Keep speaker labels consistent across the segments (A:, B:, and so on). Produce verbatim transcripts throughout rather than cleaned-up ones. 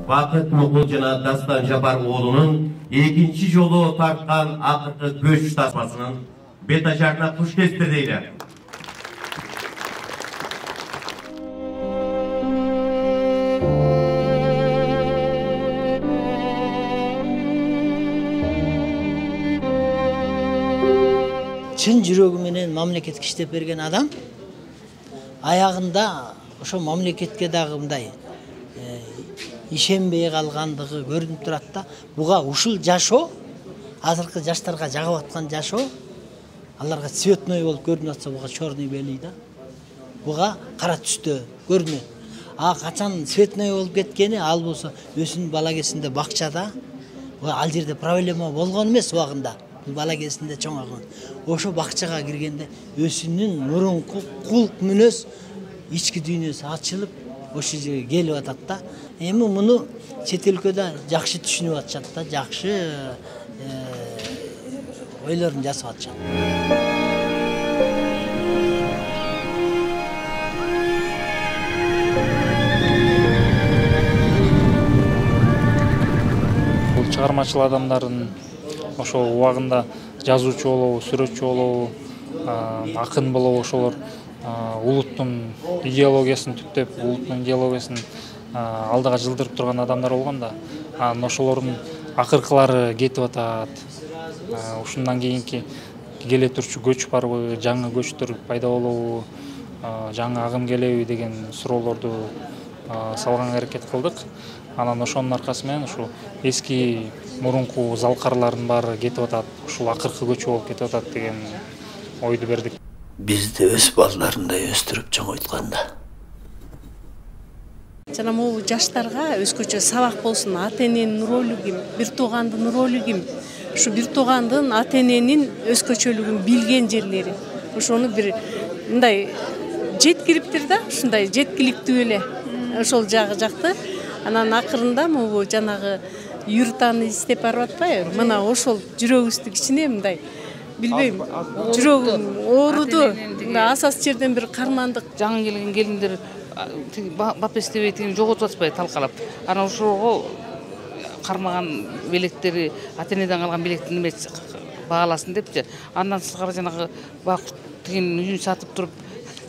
A: Бакыт Мукул жана Дастан Жапар уулунун экинчи жолу тарткан акыркы көч тасмасынын бет ажарына куш келиптир дейли.
B: Чын жүрөгү менен мамлекетке иштеп берген адам аягында ошо мамлекетке дагы мындай ишенбей калгандыгы көрүнүп турат да. Буга ушул жашоо, азыркы жаштарга жагып аткан жашоо, аларга цветной болуп көрүнүп атса, буга черный белий да. Буга кара түстө көрүнөт. А качан цветной болуп кеткени, ал болсо өзүнүн бала кезинде бакчада, ал жерде проблема болгон эмес убагында. Бала кезинде чоңойгон. Ошо бакчага киргенде өзүнүн мурунку кулк мүнөз ички дүйнөсү ачылып, ошол жерге келип атат да. Эми муну чет өлкөдө жакшы түшүнүп атышат да, жакшы ойлорун жасап атышат.
C: Бул чыгармачыл адамдардын ошол убагында жазуучу болобу, сүрөтчү болобу, акын болобу, ошолор улуттун идеологиясын түптөп, улуттун идеологиясын алдыга жылдырып турган адамдар болгон да. Анан ошолордун акыркылары кетип атат. Ушундан кийинки келе турчу көч барбы, жаңы көчтөр пайда болобу, жаңы агым келеби деген суроолорду салганга аракет кылдык. Анан ошонун аркасы менен ушул эски мурунку залкарлардын баары кетип атат, ушул акыркы көчү болуп кетип атат деген ойду бердик.
D: Бизди өз балдарындай өстүрүп чоңойтканда.
E: Жана могу жаштарга өзгөчө сабак болсун, ата-эненин ролу ким, бир туугандын ролу ким, ушу бир туугандын ата-эненин өзгөчөлүгүн билген жерлери. Ошону бир мындай жеткириптир да, ушундай жеткиликтүү эле. Ошол жагы жакты. Анан акырында могу жанагы юртаны издеп барып атпайбы? Мына ошол жүрөгүбүздү кичине мындай билбейм, жүрөгүм ооруду. Мына асас жерден бир кармандык.
F: Жаңы келген келиндер бап эстебей тигин жоготуп атпайбы талкалап. Анан ошого кармаган белектери, ата-энеден калган белекти неме бааласын депчи. Андан сырткары жанагы бак тигин үйүн сатып туруп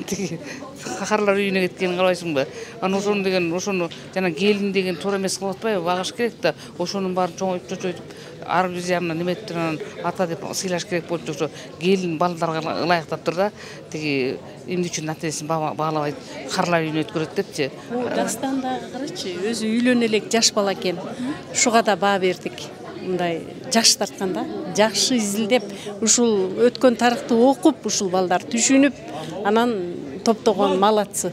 F: тиги кахарлар үйүнө кеткенин карабайсыңбы? Анан ошону деген, ошону жана келин деген туура эмес кылып атпайбы? Багыш керек да. Ошонун баарын чоңойтуп, чочойтуп, ар бир жагына неметип анан ата деп сыйлаш керек болчу. Ошо келин балдарга ылайыктаптыр да. Тиги эмне үчүн ата-энесин баалабай карлар үйүнө өткөрөт депчи.
E: Дастан дагы карачы, өзү үйлөнө элек жаш бала экен. Ушуга да баа бердик. Мындай жаш тартканда, жакшы изилдеп, ушул өткөн тарыхты окуп, ушул балдар түшүнүп, анан топтогон малатсы.